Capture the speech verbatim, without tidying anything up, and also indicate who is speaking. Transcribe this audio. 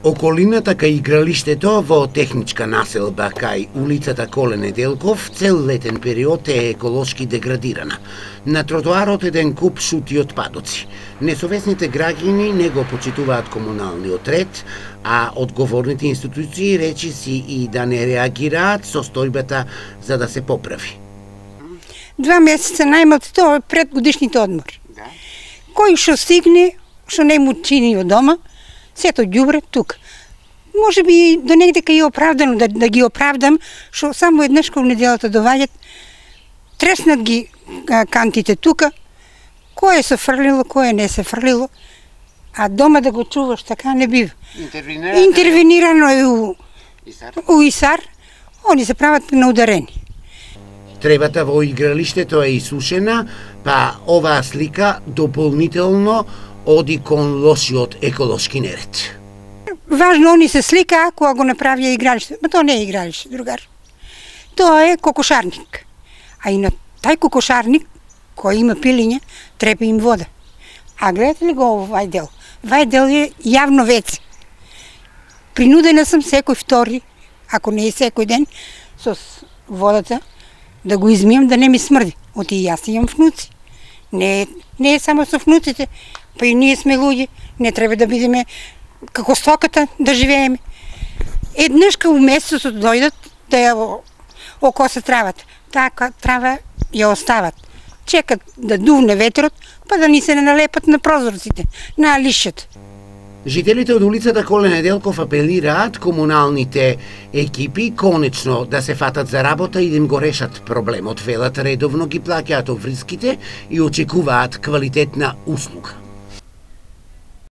Speaker 1: Околината кај игралиштето во техничка населба кај улицата Коле Неделков цел летен период е еколошки деградирана. На тротоарот еден куп шути отпадоци. Несовесните граѓани не го почитуваат комуналниот ред, а одговорните институции речиси и да не реагираат со стојбата за да се поправи.
Speaker 2: Два месеца најмалку тоа е пред годишните одмори.
Speaker 1: Да.
Speaker 2: Кој што стигне, што не му чини од дома, сето ѓубре тука. Може би до негде кај е оправдано да, да ги оправдам, што само еднаш кога неделата доваѓат, треснат ги кантите тука, кој се фрлило, кој не се фрлило, а дома да го чуваш така не бива.
Speaker 1: Интервенирано,
Speaker 2: Интервенирано е у,
Speaker 1: Исар.
Speaker 2: у Исар, они се прават на ударени.
Speaker 1: Требата во игралиштето е исушена, па оваа слика дополнително оди кон лошиот еколошки неред.
Speaker 2: Важно они се слика кога го направија игралиште. Ма тоа не е игралиште, другар. Тоа е кокошарник. А и на тај кокошарник, кој има пилиња, треба им вода. А гледате ли го овај дел? Вај дел е јавно веце. Принудена сум секој втори, ако не е секој ден, со водата да го измијам да не ми смрди. Оти и јас имам внуци. Не, не е само со внуците, па и ние сме луѓе, не треба да бидеме како стоката да живееме. Еднашка у месецот дојдат да ја окоса травата. Така трава ја остават. Чекат да дувне ветрот, па да ни се не налепат на прозорците, на лишето.
Speaker 1: Жителите од улицата Коле Неделков апелираат комуналните екипи конечно да се фатат за работа и да им го решат проблемот. Велат редовно ги плаќаат обврските и очекуваат квалитетна услуга.